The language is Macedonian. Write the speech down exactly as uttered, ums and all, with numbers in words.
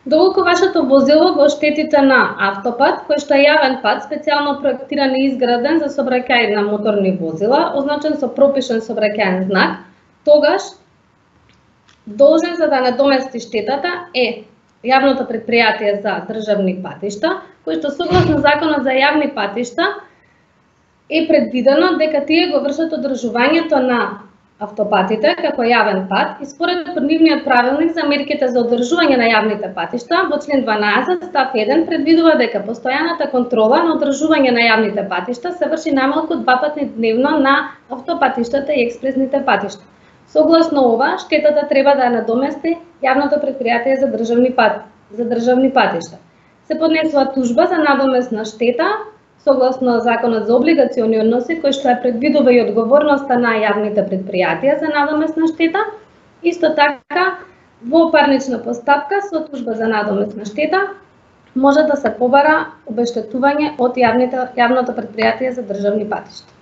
Доколку вашето возило го оштетите на автопат, кој што е јавен пат, специјално проектиран и изграден за сообраќај на моторни возила, означен со пропишан сообраќајен знак, тогаш должен за да надомести штетата е јавното претпријатие за државни патишта, кој што согласно Законот за јавни патишта е предвидено дека тие го вршат одржувањето на автопатите како јавен пат и според нивниот правилник за мерките за одржување на јавните патишта во член дванаесет став еден предвидува дека постојаната контрола на одржување на јавните патишта се врши најмалку два пати дневно на автопатиштата и експресните патишта. Согласно ова, штетата треба да надомести јавното претпријатие за државни пат, за државни патишта. Се поднесува тужба за надомест на штета согласно Законот за облигациони односи, кој што ја предвидува и одговорноста на јавните претпријатија за надомест на штета. Исто така, во парнична постапка со тужба за надомест на штета може да се побара обештетување од јавните, јавното претпријатие за државни патишта.